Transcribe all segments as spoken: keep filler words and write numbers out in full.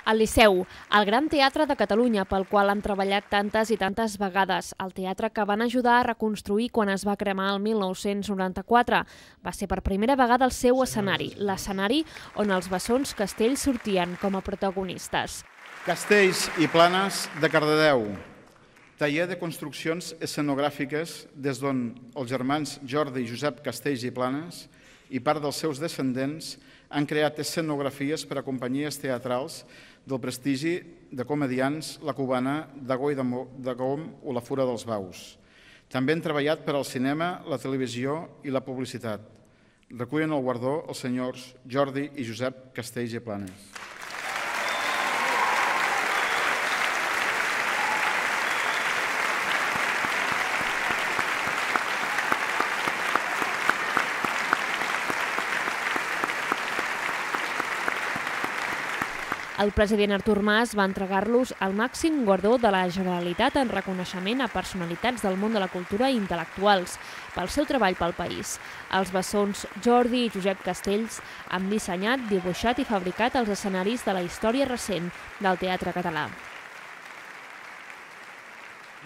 El Liceu, el gran teatre de Catalunya pel qual han treballat tantes i tantes vegades. El teatre que van ajudar a reconstruir quan es va cremar el mil nou-cents noranta-quatre. Va ser per primera vegada el seu escenari, l'escenari on els bessons castells sortien com a protagonistes. Castells i Planes de Cardedeu. Taller de construccions escenogràfiques des d'on els germans Jordi i Josep Castells i Planes i part dels seus descendents han creat escenografies per a companyies teatrals del prestigi de comedians La Cubana, Dagó i de Gom o La Fura dels Baus. També han treballat per al cinema, la televisió i la publicitat. Recullen el guardó els senyors Jordi i Josep Castells i Planes. El president Artur Mas va entregar-los el màxim guardó de la Generalitat en reconeixement a personalitats del món de la cultura i intel·lectuals pel seu treball pel país. Els bessons Jordi i Josep Castells han dissenyat, dibuixat i fabricat els escenaris de la història recent del teatre català.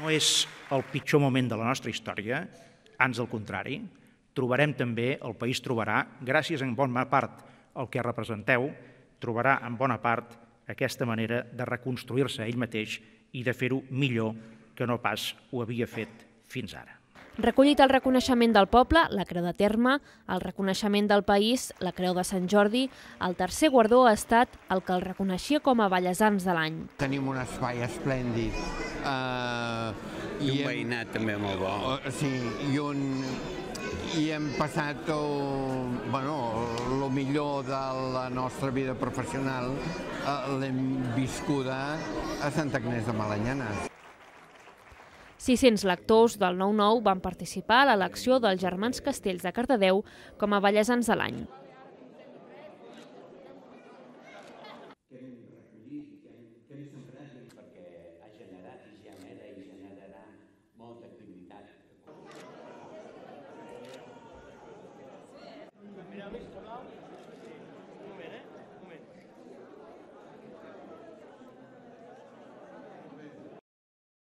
No és el pitjor moment de la nostra història, ans al contrari. Trobarem també, el país trobarà, gràcies en bona part al que representeu, trobarà en bona part aquesta manera de reconstruir-se ell mateix i de fer-ho millor que no pas ho havia fet fins ara. Recollit el reconeixement del poble, la Creu de Terme, el reconeixement del país, la Creu de Sant Jordi, el tercer guardó ha estat el que el reconeixia com a Ballesans de l'any. Tenim un espai esplèndid. I un veïnat també molt bo. Sí, i un... i hem passat el millor de la nostra vida professional, l'hem viscuda a Santa Agnès de Malanyanes. sis-cents lectors del nou nou van participar a l'elecció dels germans Castells de Cardedeu com a Ballesans de l'any.